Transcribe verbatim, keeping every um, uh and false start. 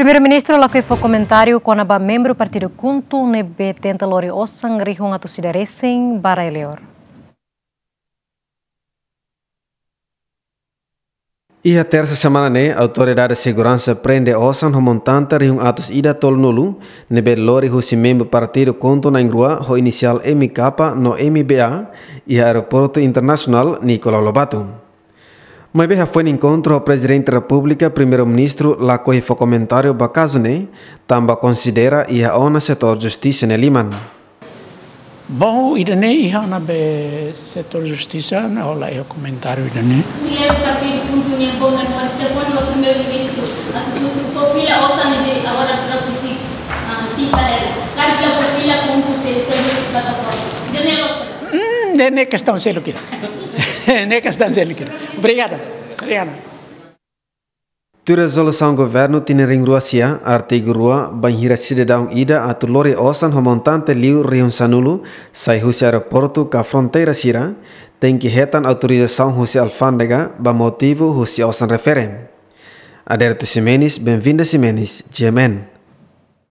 Primeiru-Ministru lakohi fó komentáriu kona-ba membru partidu KHUNTO ne'ebé tenta lori osan rihun atus ida resin ba rai-li'ur. Iha tersa semana ne'e, Autoridade Seguransa prende osan ho montante rihun atus ida tolunulu ne'ebé lori husi membru partidu KHUNTO na'in-rua ho inisiál M K no M B A iha Aeroportu Internasionál Nicolau Lobato. Maibé hafoin enkontru ho Prezidente Repúblika, Primeiru-Ministru lakohi fó komentáriu ba kazu ne'e, tanba konsidera iha ona setór justisa nia liman. Bom, ida-ne'e iha ona be setór justisa, ha'u la iha komentáriu ida-ne'e. Líder partidu KHUNTO nian bom memória telefone ba Primeiru-Ministru, atu husu fó fila osan ne'ebé agora drop six, ah, sita ela. Karik la fó fila KHUNTO sei, sei husu plataforma. Ida-ne'e loos ka lae? Hmm, ne'e, ne'e kestaun seluk ida. Ne'e kestaun seluk ida. Obrigadu. Obrigadu. Tuir rezolusaun governu tinan rihun rua sia, artigu rua, bainhira sidadaun ida atu lori osan ho montante liu rihun sanulu sai husi aeroportu ka fronteira sira, tenke hetan autorizasaun husi alfándega ba motivu husi osan refere. Adérito Ximenes, Benvinda Ximenes, G M N.